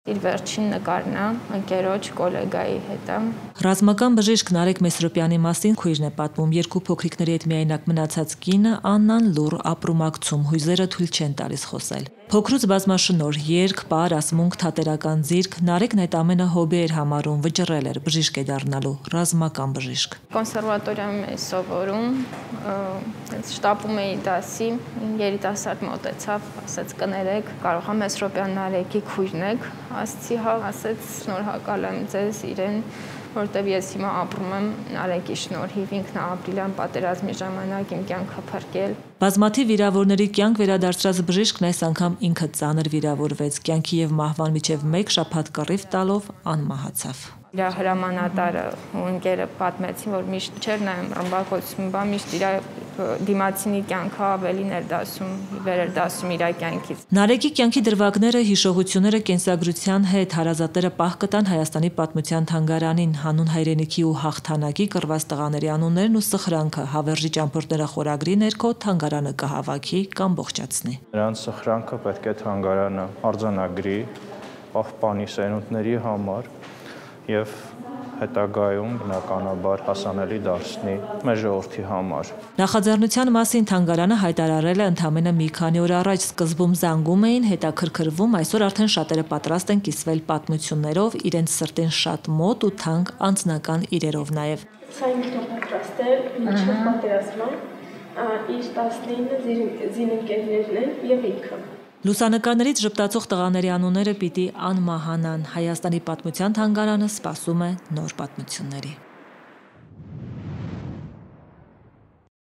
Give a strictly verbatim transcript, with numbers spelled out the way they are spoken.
Իր վերջին նկարն է ընկերոջ գոլեգայի հետ։ Ռազմական բժիշկ Նարեկ Մեսրոպյանի մասին քույրն է պատմում, երկու փոքրիկների հետ միայնակ մնացած կինը Աննան լուռ ապրումակցում, հույզերը թույլ չեն տալիս խոսել։ Փոքրուց բազմաշնորհ, երգ, պար, ասմունք, թատերական ձիրք, Նարեկն այդ ամենը հոբի էր համարում, վճռել էր, բժիշկ է դառնալու, ռազմական բժիշկ։ Կոնսերվատորիայում էի սովորում, շտապում էի դասի, երիտասարդ մոտեցավ, ասաց կներեք, կարող եմ Մեսրոպյան Նարեկի քույրն եք, ասացի հա, ասաց շնորհակալ եմ ձեզ իրեն, որտեվ ես հիմա ապրում եմ Նարեկի շնորհիվ, ինքն է ապրիլ պատերազմի ժամանակ իմ կյանքը փրկել։ Բազմաթիվ վիրավորների կյանք վերադարձրած բժիշկն այս անգամ ինքը ծանր վիրավորվեց, կյանքի եւ մահվան միջև մեկ շաբաթ կռիվ տալով անմահացավ։ Իր հրամանատարը ու ընկերը պատմեցին, որ միշտ չէր նայում ռմբակոծում, բա միշտ իր դիմացինի կյանքը ավելին էր դասում, վեր էր դասում իր կյանքից։ Նարեկի կյանքի դրվագները, հիշողությունները կենսագրության հետ հարազատները պահ կտան Հայաստանի պատմության թանգարանին, հանուն հայրենիքի ու հաղթանակի կռված տղաների անուններն ու սխրանքը հավերժի ճամփորդները խորագրի ներքո թանգարանը կհավաքի կամ ողջացնի։ Նրանց սխրանքը պետք է թանգարանը արձանագրի, պահպանի սերունդների համար եւ հետագայում բնականաբար հասանելի դարձնի մեր ժողովրդի համար։ Նախաձեռնության մասին թանգարանը հայտարարել է ընդամենը մի քանի օր առաջ, սկզբում զանգում էին, հետաքրքրվում, այսօր արդեն շատերը պատրաստ են կիսվել պատմություններով, իրենց սրտին շատ մոտ ու թանկ անձնական իրերով նաև։ Սա ինքն պատրաստ է մինչև պատերազմը, իր տասնինը զինընկերներն են եւ ինքը։ Լուսանկարներից ժպտացող տղաների անունները պիտի անմահանան։ Հայաստանի պատմության թանգարանը սպասում է նոր պատմությունների։